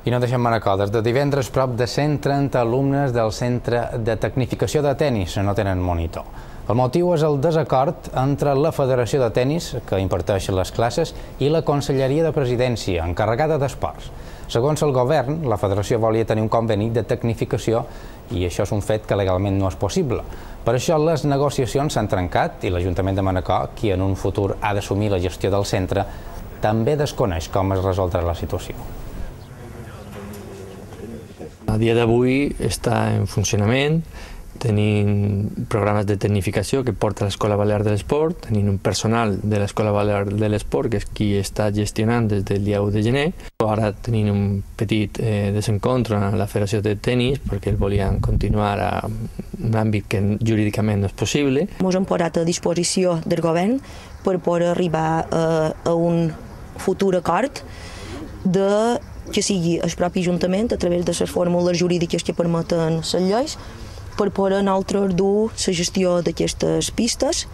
I no deixem Manacor. Des de divendres, prop de 130 alumnes del Centre de Tecnificació de Tenis no tenen monitor. El motiu és el desacord entre la Federació de Tenis, que imparteix les classes, i la Conselleria de Presidència, encarregada d'esports. Segons el govern, la federació volia tenir un conveni de tecnificació i això és un fet que legalment no és possible. Per això les negociacions s'han trencat i l'Ajuntament de Manacor, qui en un futur ha d'assumir la gestió del centre, també desconeix com es resoldrà la situació. A dia d'avui està en funcionament, tenim programes de tecnificació que porta l'Escola Balear de l'Esport, tenim un personal de l'Escola Balear de l'Esport que és qui està gestionant des del dia 1 de gener. Ara tenim un petit desencontre amb la Federació de Tenis perquè el volien continuar a un àmbit que jurídicament no és possible. Ens hem posat a disposició del govern per poder arribar a un futur acord que sigui el propi Ajuntament, a través de les fórmules jurídiques que permeten les lleis, per poder nosaltres dur la gestió d'aquestes pistes